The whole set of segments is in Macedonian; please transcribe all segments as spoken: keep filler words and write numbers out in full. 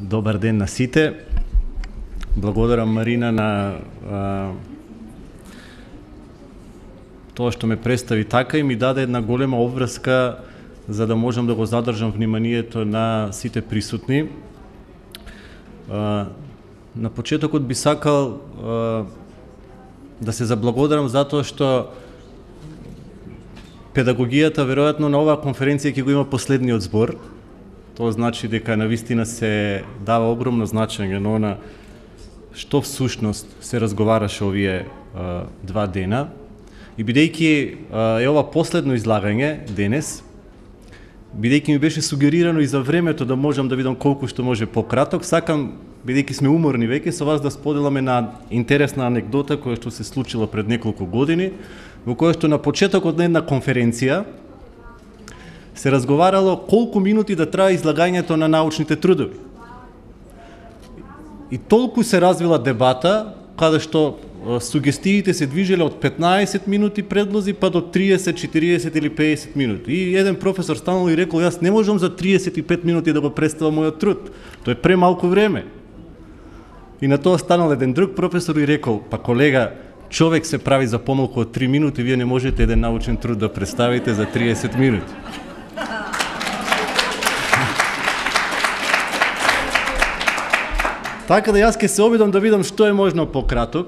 Добар ден на сите. Благодарам Марина на а, тоа што ме представи така и ми даде една голема обврска за да можам да го задржам вниманието на сите присутни. А, на почетокот би сакал а, да се заблагодарам затоа што педагогијата веројатно на оваа конференција ќе го има последниот збор. Тоа значи дека навистина се дава огромно значење на она што всушност се разговараше овие а, два дена. И бидејќи а, е ова последно излагање денес, бидејќи ми беше сугерирано и за времето да можам да видам колку што може пократок, сакам, бидејќи сме уморни веќе, со вас да споделаме на интересна анекдота која што се случила пред неколку години, во која што на почетокот на една конференција се разговарало колку минути да трае излагањето на научните трудови. И толку се развила дебата, каде што сугестиите се движеле од петнаесет минути предлози па до триесет, четириесет или педесет минути. И еден професор станал и рекол, јас не можам за триесет и пет минути да го представам мојот труд. Тоа е премалку време. И на тоа станал еден друг професор и рекол, па колега, човек се прави за помалку од три минути, вие не можете еден научен труд да представите за триесет минути. Така да јас ќе се обидам да видам што е можно пократок,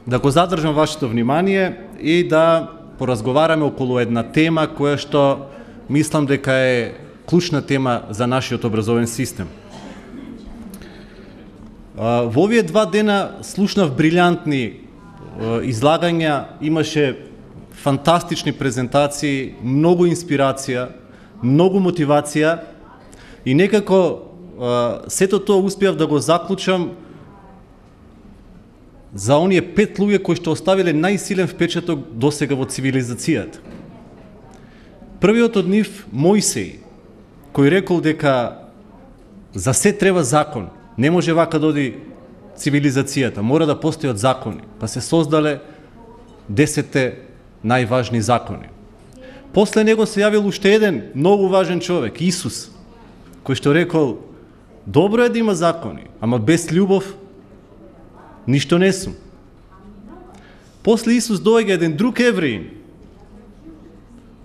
да го задржам вашето внимание и да поразговараме околу една тема која што мислам дека е клучна тема за нашиот образовен систем. Во овие два дена слушнав брилјантни излагања, имаше фантастични презентации, многу инспирација, многу мотивација и некако сето тоа успеав да го заклучам за оние пет луѓе кои што оставиле најсилен впечаток досега во цивилизацијата. Првиот од нив Мојсеј, кој рекол дека за се треба закон, не може вака да оди цивилизацијата, мора да постојат закони, па се создале десетте најважни закони. После него се јавил уште еден многу важен човек, Исус, кој што рекол, добро е да има закони, ама без љубов ништо не сум. После Исус доаѓа еден друг евреин,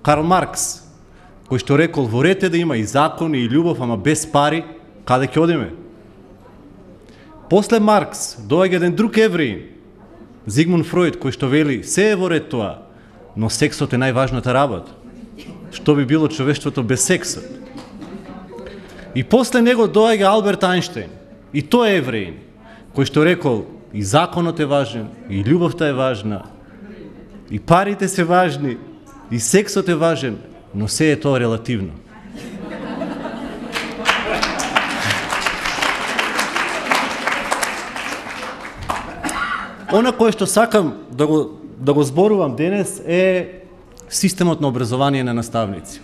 Карл Маркс, кој што рекол, во ред е да има и закони и љубов, ама без пари, каде ќе одиме? После Маркс доаѓа еден друг евреин, Зигмунд Фројд, кој што вели, се е во ред тоа, но сексот е најважната работа. Што би било човештвото без сексот? И после него доаѓа Алберт Ајнштејн, и тој е евреин, кој што рекол, и законот е важен, и љубовта е важна, и парите се важни, и сексот е важен, но се е тоа релативно. Она кое што сакам да го, да го зборувам денес е системот на образование на наставници.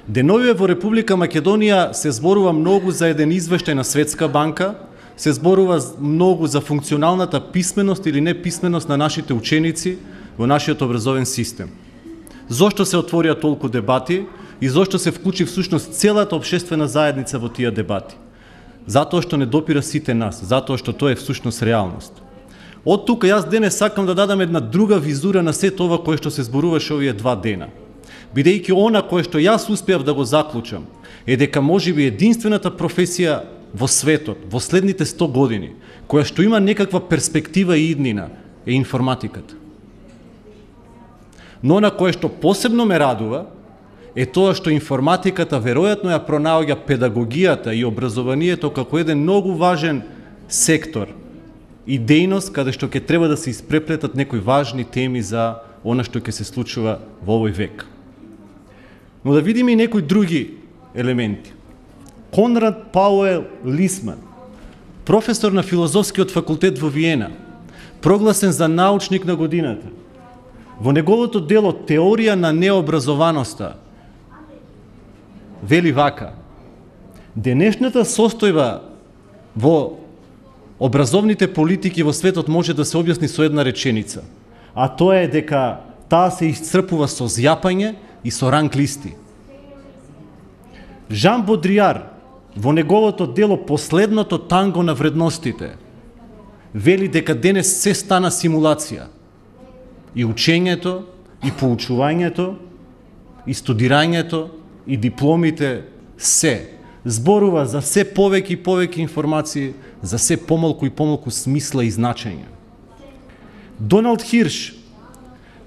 Деновиве во Република Македонија се зборува многу за еден извештај на Светска банка, се зборува многу за функционалната писменост или неписменост на нашите ученици во нашиот образовен систем. Зошто се отворија толку дебати и зошто се вклучи всушност целата општествена заедница во тие дебати? Затоа што не допира сите нас, затоа што тоа е всушност реалност. Од тука јас денес сакам да дадам една друга визура на сето ова кое што се зборуваше овие два дена. Бидејќи она кое што јас успеав да го заклучам е дека можеби единствената професија во светот во следните сто години која што има некаква перспектива и иднина е информатиката. Но на кое што посебно ме радува е тоа што информатиката веројатно ја пронаоѓа педагогијата и образованието како еден многу важен сектор и дејност каде што ќе треба да се испреплетат некои важни теми за она што ќе се случува во овој век. Но да видиме и некои други елементи. Конрад Пауел Лисман, професор на Филозофскиот факултет во Виена, прогласен за научник на годината, во неговото дело Теорија на необразованоста, вели вака: денешната состојба во образовните политики во светот може да се објасни со една реченица, а тоа е дека таа се исцрпува со зјапање и со ранг листи. Жан Бодријар, во неговото дело Последното танго на вредностите, вели дека денес се стана симулација. И учењето, и поучувањето, и студирањето, и дипломите, се зборува за се повеќе и повеќе информации, за се помалку и помалку смисла и значење. Доналд Хирш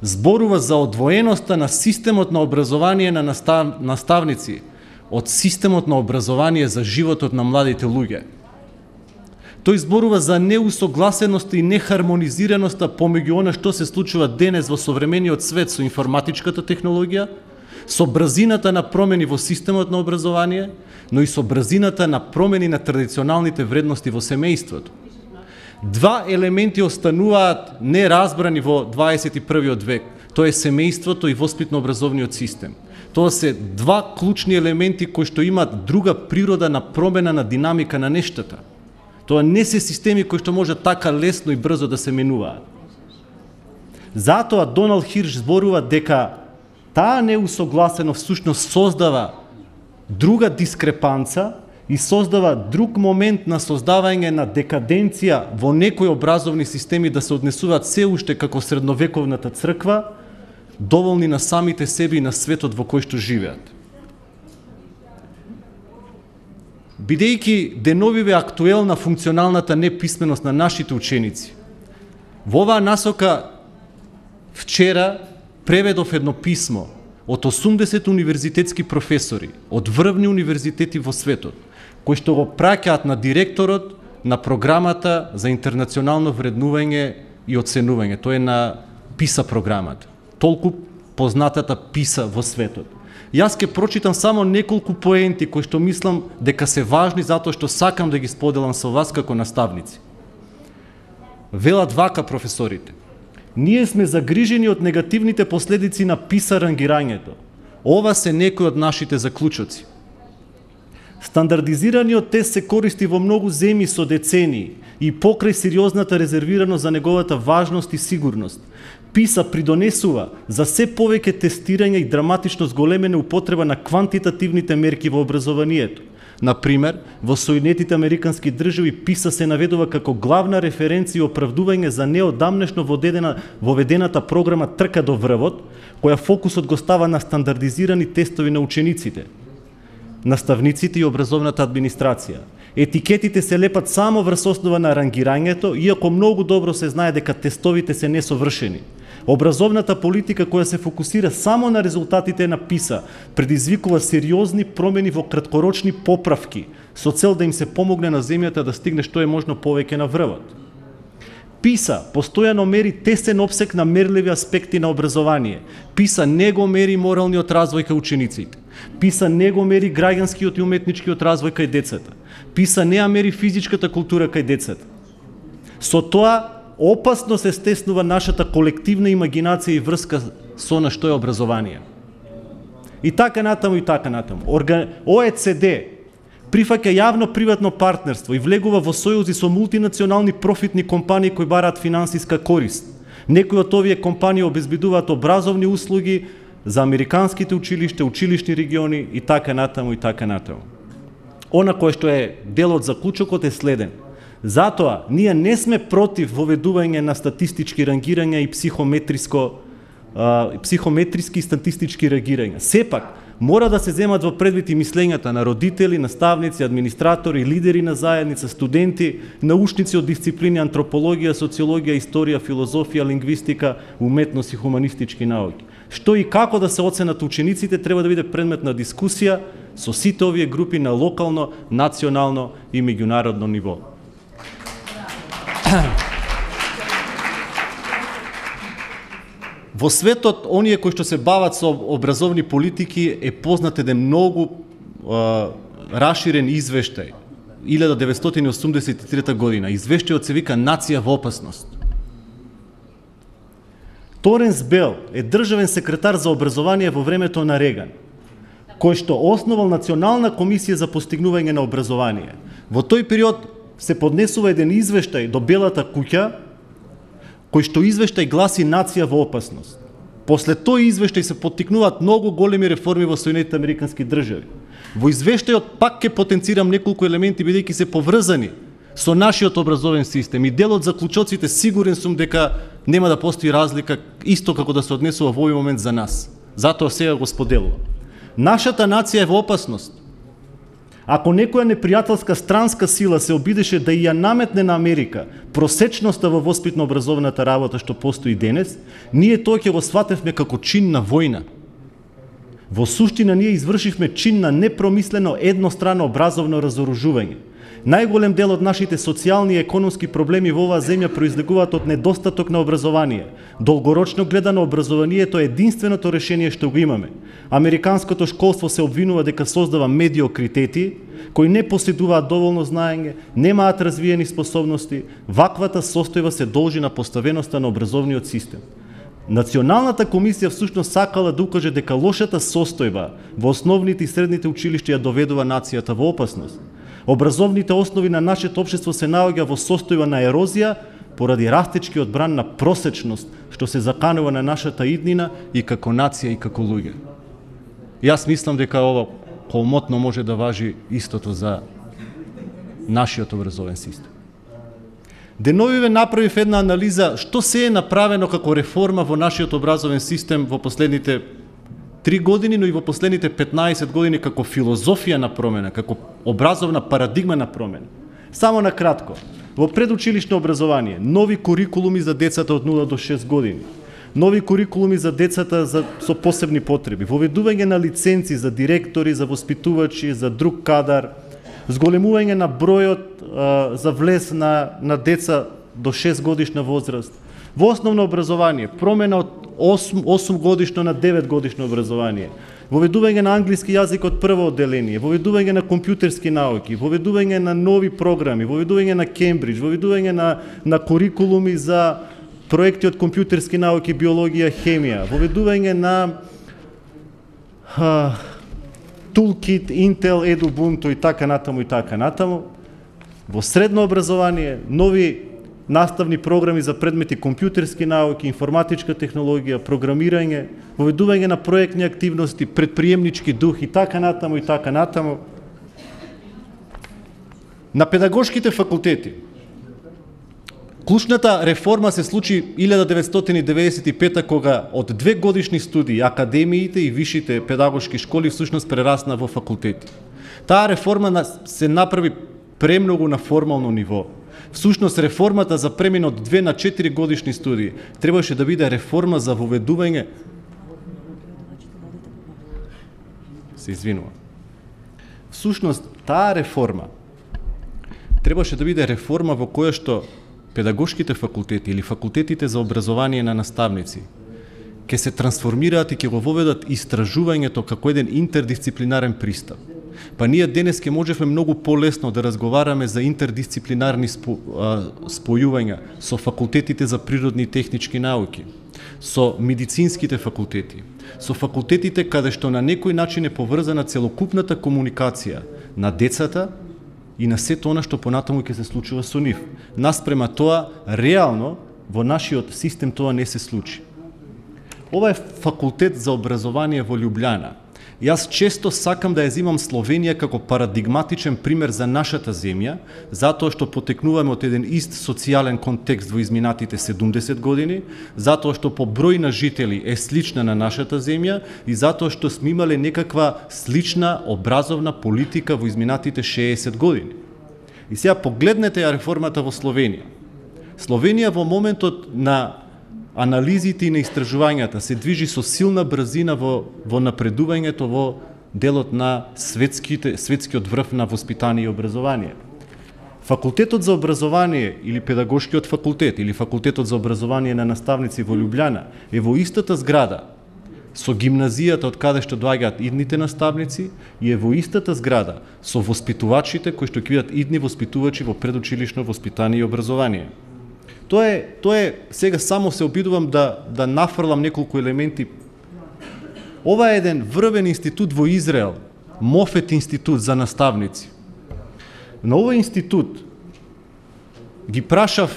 зборува за одвоеноста на системот на образование на настав... наставници од системот на образование за животот на младите луѓе. Тој зборува за неусогласеноста и нехармонизираноста помеѓу она што се случува денес во современиот свет со информатичката технологија, со брзината на промени во системот на образование, но и со брзината на промени на традиционалните вредности во семејството. Два елементи остануваат неразбрани во дваесет и првиот век. Тоа е семејството и воспитно-образовниот систем. Тоа се два клучни елементи кои што имаат друга природа на промена на динамика на нештата. Тоа не се системи кои што може така лесно и брзо да се менуваат. Затоа Доналд Хирш зборува дека таа неусогласеност всушност создава друга дискрепанца и создава друг момент на создавање на декаденција во некои образовни системи да се однесуваат се уште како средновековната црква, доволни на самите себе и на светот во кој што живеат. Бидејќи деновиве актуелна функционалната неписменост на нашите ученици, во оваа насока вчера преведов едно писмо од осумдесет универзитетски професори од врвни универзитети во светот, кои што го праќаат на директорот на програмата за интернационално вреднување и оценување. Тоа е на ПИСА програмата, толку познатата ПИСА во светот. Јас ќе прочитам само неколку поенти кои што мислам дека се важни затоа што сакам да ги споделам со вас како наставници. Велат вака професорите: ние сме загрижени од негативните последици на ПИСА рангирањето. Ова се некои од нашите заклучоци. Стандардизираниот тест се користи во многу земји со децении и покрај сериозната резервираност за неговата важност и сигурност. ПИСА придонесува за се повеќе тестирање и драматично зголемена употреба на квантитативните мерки во образованието. Например, во Соединетите Американски држави ПИСА се наведува како главна референција и оправдување за неодамнешно воведената програма Трка до врвот, која фокусот го става на стандардизирани тестови на учениците, наставниците и образовната администрација. Етикетите се лепат само врз основа на рангирањето, иако многу добро се знае дека тестовите се несовршени. Образовната политика која се фокусира само на резултатите на ПИСА предизвикува сериозни промени во краткорочни поправки со цел да им се помогне на земјата да стигне што е можно повеќе на врвот. ПИСА постојано мери тесен опсек на мерливи аспекти на образование. ПИСА не го мери моралниот развој кај учениците. ПИСА не го мери граѓанскиот и уметничкиот развој кај децата. ПИСА не ја мери физичката култура кај децата. Со тоа опасно се стеснува нашата колективна имагинација и врска со на што е образование. И така натаму и така натаму. О Е Це Де прифаќа јавно-приватно партнерство и влегува во сојузи со мултинационални профитни компании кои бараат финансиска корист. Некои од овие компании обезбедуваат образовни услуги за американските училишта, училишни региони и така натаму и така натаму. Она кое што е дел од заклучокот е следен. Затоа, ние не сме против воведување на статистички рангирања и психометриско, а, психометриски и статистички рангирања. Сепак, мора да се земат во предвид и мислењата на родители, наставници, администратори, лидери на заедница, студенти, научници од дисциплини антропологија, социологија, историја, филозофија, лингвистика, уметност и хуманистички науки. Што и како да се оценат учениците треба да биде предмет на дискусија со сите овие групи на локално, национално и меѓународно ниво. Во светот, оние кои што се бават со образовни политики е познат еден многу а, раширен извештај, илјада деветстотини осумдесет и трета година. Извештајот се вика Нација во опасност. Торенс Бел е државен секретар за образование во времето на Реган, кој што основал Национална комисија за постигнување на образование. Во тој период се поднесува еден извештај до Белата куќа, кој што извештај гласи Нација во опасност. После тој извештај се поттикнуваат многу големи реформи во Соединетите Американски држави. Во извештајот пак ќе потенцирам неколку елементи бидејќи се поврзани со нашиот образовен систем и дел од заклучоците сигурен сум дека нема да постои разлика исто како да се однесува во овој момент за нас. Затоа сега го споделувам. Нашата нација е во опасност. Ако некоја непријателска странска сила се обидеше да ја наметне на Америка просечноста во воспитно-образовната работа што постои денес, ние тоа ќе го сватевме како чин на војна. Во суштина ние извршивме чин на непромислено еднострано образовно разоружување. Најголем дел од нашите социјални и економски проблеми во оваа земја произлегуваат од недостаток на образование. Долгорочно гледано, образованието е единственото решение што го имаме. Американското школство се обвинува дека создава медиокритети, кои не поседуваат доволно знаење, немаат развиени способности. Ваквата состојба се должи на поставеноста на образовниот систем. Националната комисија всушност сакала да укаже дека лошата состојба во основните и средните училишта ја доведува нацијата во опасност. Образовните основи на нашето општество се наоѓа во состојба на ерозија поради растечкиот бран на просечност што се заканува на нашата иднина и како нација и како луѓе. Јас мислам дека ова комотно може да важи истото за нашиот образовен систем. Деновиве направив една анализа што се е направено како реформа во нашиот образовен систем во последните три години, но и во последните петнаесет години како филозофија на промена, како образовна парадигма на промена. Само на кратко, во предучилишно образование, нови курикулуми за децата од нула до шест години, нови курикулуми за децата за, со посебни потреби, воведување на лиценци за директори, за воспитувачи, за друг кадар, зголемување на бројот а, за влез на, на деца до шест годишна возраст. Во основно образование, промена од осум годишно на девет годишно образование, воведување на англиски јазик од прво одделение, воведување на компјутерски науки, воведување на нови програми, воведување на Кембридж, воведување на, на курикулуми за проекти од компјутерски науки, биологија, хемија, воведување на а, Toolkit, Intel, Edubuntu и така натаму и така натаму. Во средно образование, нови наставни програми за предмети компјутерски науки, информатичка технологија, програмирање, воведување на проектни активности, предприемнички дух и така натаму и така натаму. На педагошките факултети. Клучната реформа се случи илјада деветстотини деветдесет и пета кога од две годишни студии академиите и вишите педагошки школи всушност прерасна во факултети. Таа реформа се направи премногу на формално ниво. Всушност реформата за премин од две на четири годишни студии требаше да биде реформа за воведување. Се извинувам. Всушност таа реформа требаше да биде реформа во која што педагошките факултети или факултетите за образование на наставници ќе се трансформираат и ќе го воведат истражувањето како еден интердисциплинарен пристап. Па ние денес ќе можеме многу полесно да разговараме за интердисциплинарни спо, а, спојувања со факултетите за природни и технички науки, со медицинските факултети, со факултетите каде што на некој начин е поврзана целокупната комуникација на децата и на сето она што понатаму ќе се случува со нив. Наспрема тоа, реално, во нашиот систем тоа не се случи. Ова е факултет за образование во Љубљана. Јас често сакам да ја зимам Словенија како парадигматичен пример за нашата земја, затоа што потекнуваме од еден ист социјален контекст во изминатите седумдесет години, затоа што по број на жители е слична на нашата земја и затоа што сме имале некаква слична образовна политика во изминатите шеесет години. И сега погледнете ја реформата во Словенија. Словенија во моментот на анализите и на истражувањата се движи со силна брзина во, во напредувањето во делот на светските, светскиот врв на воспитание и образование. Факултетот за образование или педагошкиот факултет или факултетот за образование на наставници во Љубљана е во истата зграда со гимназијата од каде што доаѓаат идните наставници и е во истата зграда со воспитувачите кои што ќе бидат идни воспитувачи во предучилишно воспитание и образование. Тоа е, тоа е, сега само се обидувам да, да нафрлам неколку елементи. Ова е еден врвен институт во Израел, Мофет институт за наставници. На овој институт ги прашав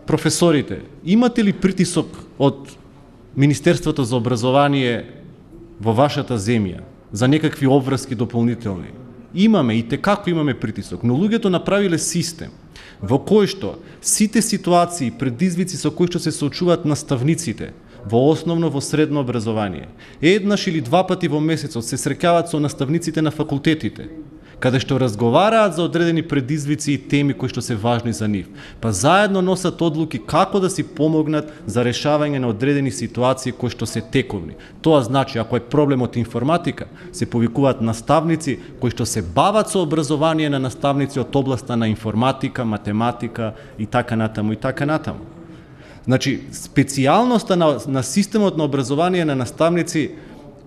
професорите, имате ли притисок од Министерството за образование во вашата земја за некакви обврски дополнителни. Имаме и текако имаме притисок, но луѓето направиле систем во кој што сите ситуации, предизвици со кои што се соочуваат наставниците во основно, во средно образование, еднаш или два пати во месецот се среќаваат со наставниците на факултетите, каде што разговараат за одредени предизвици и теми кои што се важни за нив, па заедно носат одлуки како да си помогнат за решавање на одредени ситуации кои што се тековни. Тоа значи, ако е проблемот информатика, се повикуваат наставници кои што се бават со образование на наставници од областа на информатика, математика и така натаму и така натаму. Значи, специјалноста на, на системот на образование на наставници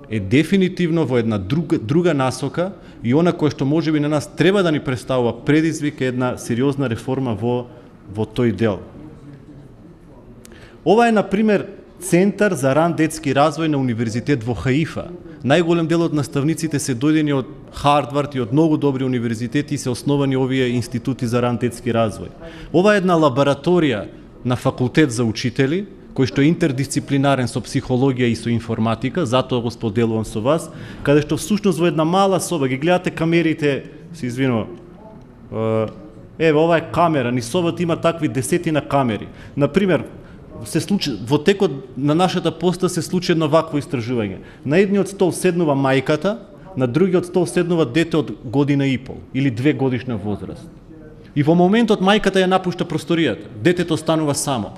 е дефинитивно во една друга, друга насока и она кое што можеби на нас треба да ни представува предизвик е една сериозна реформа во, во тој дел. Ова е, например, Центар за ран детски развој на Универзитет во Хаифа. Најголем дел од наставниците се дојдени од Хардвард и од многу добри универзитети и се основани овие институти за ран детски развој. Ова е една лабораторија на факултет за учители, кој што е интердисциплинарен со психологија и со информатика, затоа го споделувам со вас, каде што всушност во една мала соба, ги гледате камерите, се извинувам, еве, ова е камера, ни собата има такви десетина камери. Например, се случи, во текот на нашата поста се случи едно вакво истражување. На едниот стол седнува мајката, на другиот стол седнува дете од година и пол, или две годишна возраст. И во моментот мајката ја напушта просторијата, детето станува само.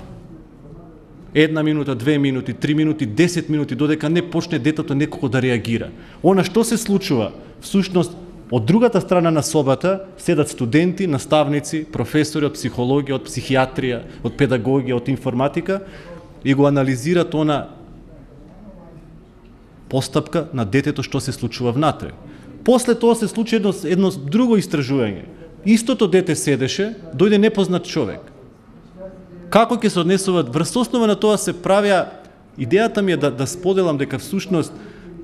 Една минута, две минути, три минути, десет минути, додека не почне детето некако да реагира. Она што се случува? Всушност, од другата страна на собата седат студенти, наставници, професори од психологија, од психијатрија, од педагогија, од информатика и го анализират она постапка на детето што се случува внатре. После тоа се случи едно, едно друго истражување. Истото дете седеше, дојде непознат човек. Како ќе се однесуваат? Врз основа на тоа се правија, идејата ми е да, да споделам дека всушност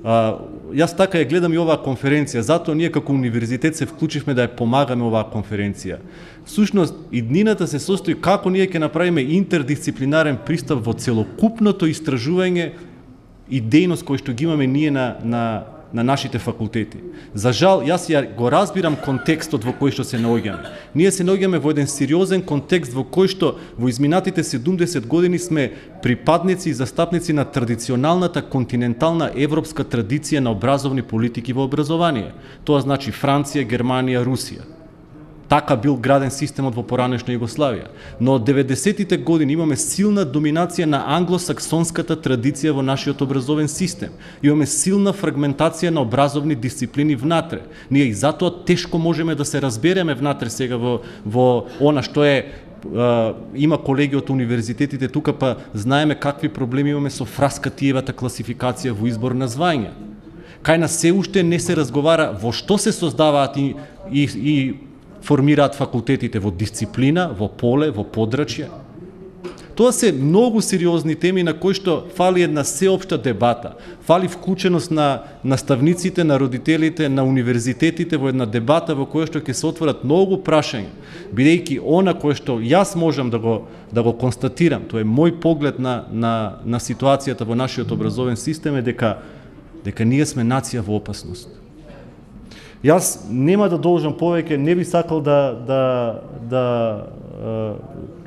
а, јас така ја гледам и оваа конференција, затоа ние како универзитет се вклучивме да ја помагаме оваа конференција. Всушност, иднината се состои како ние ќе направиме интердисциплинарен пристап во целокупното истражување и дејност кој што ги имаме ние на, на на нашите факултети. За жал, јас ја го разбирам контекстот во кој што се наоѓаме. Ние се наоѓаме во еден сериозен контекст во кој што во изминатите седумдесет години сме припадници и застапници на традиционалната континентална европска традиција на образовни политики во образование. Тоа значи Франција, Германија, Русија. Така бил граден системот во поранешна Југославија. Но од деветдесетите години имаме силна доминација на англосаксонската традиција во нашиот образовен систем. Имаме силна фрагментација на образовни дисциплини внатре. Ние и затоа тешко можеме да се разбереме внатре сега во, во она што е, Uh, има колеги од универзитетите тука, па знаеме какви проблеми имаме со Фраскатиевата класификација во избор на звања. Кај нас се уште не се разговара во што се создаваат и, и, и формираат факултетите, во дисциплина, во поле, во подрачје. Тоа се многу сериозни теми на кои што фали една сеопшта дебата, фали вклученост на наставниците, на родителите, на универзитетите во една дебата во која што ќе се отворат многу прашања, бидејќи она кое што јас можам да го да го констатирам, тоа е мој поглед на на на ситуацијата во нашиот образовен систем е дека дека ние сме нација во опасност. Јас нема да должам повеќе, не би сакал да да да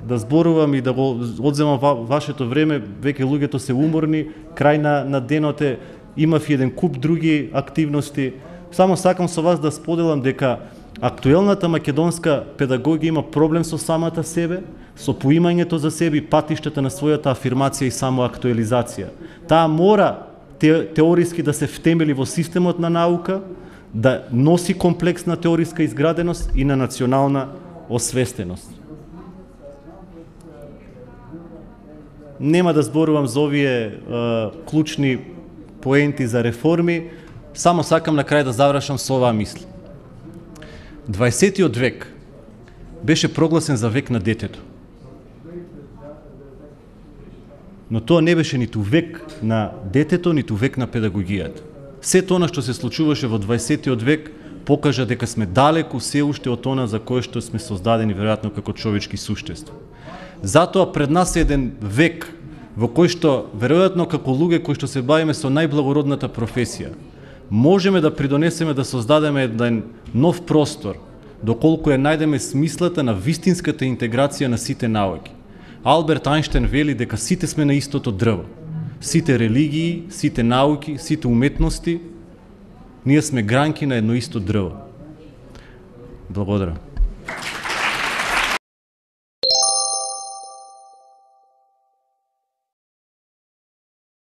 да зборувам и да го одземам ва, вашето време, веќе луѓето се уморни, крај на, на денот е, имав еден куп други активности. Само сакам со вас да споделам дека актуелната македонска педагогија има проблем со самата себе, со поимањето за себе и патиштата на својата афирмација и самоактуализација. Таа мора те, теориски да се втемели во системот на наука, да носи комплексна теориска изграденост и на национална освестеност. Нема да зборувам за овие а, клучни поенти за реформи, само сакам на крај да завршам со оваа мисла. дваесеттиот век беше прогласен за век на детето. Но тоа не беше ниту век на детето, ниту век на педагогијата. Сето она што се случуваше во дваесеттиот век покажа дека сме далеку се уште од она за кое што сме создадени веројатно како човечки суштества. Затоа пред нас е еден век во кој што веројатно како луѓе кои што се бавиме со најблагородната професија, можеме да придонесеме да создадеме еден нов простор, доколку ја најдеме смислата на вистинската интеграција на сите науки. Алберт Ајнштајн вели дека сите сме на истото дрво. Сите религии, сите науки, сите уметности, ние сме гранки на едно исто дрво. Благодарам.